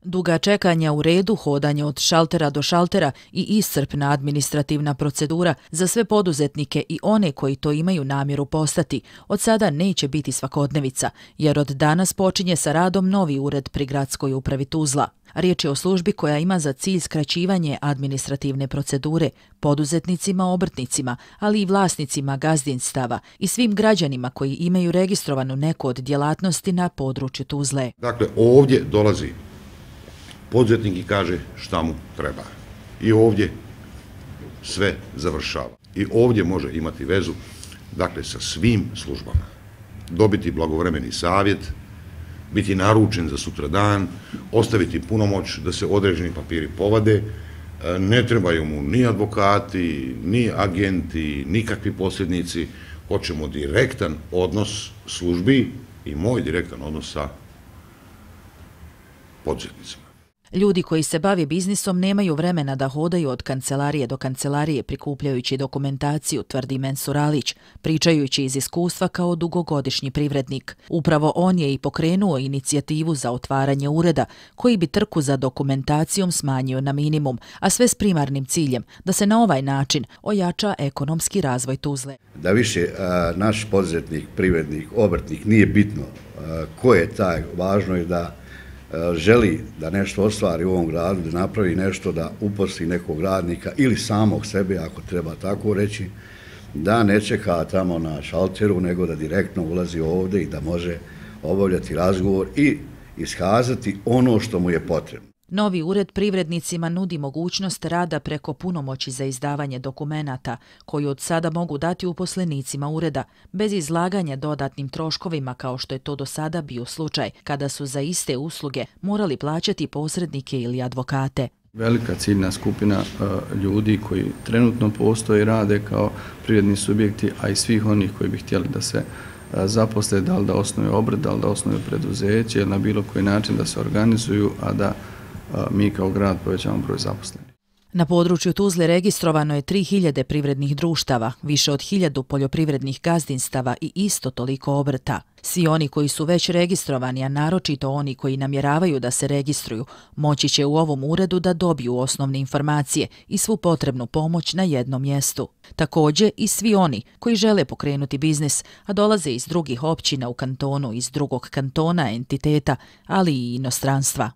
Duga čekanja u redu, hodanje od šaltera do šaltera i iscrpna administrativna procedura za sve poduzetnike i one koji to imaju namjeru postati od sada neće biti svakodnevica, jer od danas počinje sa radom novi ured pri Gradskoj upravi Tuzla. Riječ je o službi koja ima za cilj skraćivanje administrativne procedure poduzetnicima, obrtnicima, ali i vlasnicima gazdinstava i svim građanima koji imaju registrovanu neku od djelatnosti na području Tuzle. Dakle, ovdje dolazi poduzetnik i kaže šta mu treba. I ovdje sve završava. I ovdje može imati vezu, dakle, sa svim službama. Dobiti blagovremeni savjet, biti naručen za sutradan, ostaviti punomoć da se određeni papiri povade. Ne trebaju mu ni advokati, ni agenti, nikakvi posrednici. Hoćemo direktan odnos službi i moj direktan odnos sa poduzetnicima. Ljudi koji se bave biznisom nemaju vremena da hodaju od kancelarije do kancelarije prikupljajući dokumentaciju, tvrdi Mensur Alić, pričajući iz iskustva kao dugogodišnji privrednik. Upravo on je i pokrenuo inicijativu za otvaranje ureda koji bi trku za dokumentacijom smanjio na minimum, a sve s primarnim ciljem da se na ovaj način ojača ekonomski razvoj Tuzle. Da više naš poduzetnik, privrednik, obrtnik nije bitno ko je taj, važno je da želi da nešto ostvari u ovom gradu, da napravi nešto, da uposli nekog radnika ili samog sebe, ako treba tako reći, da ne čeka tamo na šalteru, nego da direktno ulazi ovdje i da može obavljati razgovor i iskazati ono što mu je potrebno. Novi ured privrednicima nudi mogućnost rada preko punomoći za izdavanje dokumenata, koju od sada mogu dati uposlenicima ureda, bez izlaganja dodatnim troškovima kao što je to do sada bio slučaj, kada su za iste usluge morali plaćati posrednike ili advokate. Velika ciljna skupina ljudi koji trenutno postoje i rade kao privredni subjekti, a i svih onih koji bi htjeli da se zaposle, da li da osnuju obrt, da li da osnuju preduzeće ili na bilo koji način da se organizuju, a da mi kao grad povećamo broj zaposlenih. Na području Tuzle registrovano je 3000 privrednih društava, više od 1000 poljoprivrednih gazdinstava i isto toliko obrta. Svi oni koji su već registrovani, a naročito oni koji namjeravaju da se registruju, moći će u ovom uredu da dobiju osnovne informacije i svu potrebnu pomoć na jednom mjestu. Također i svi oni koji žele pokrenuti biznis, a dolaze iz drugih općina u kantonu, iz drugog kantona, entiteta, ali i inostranstva.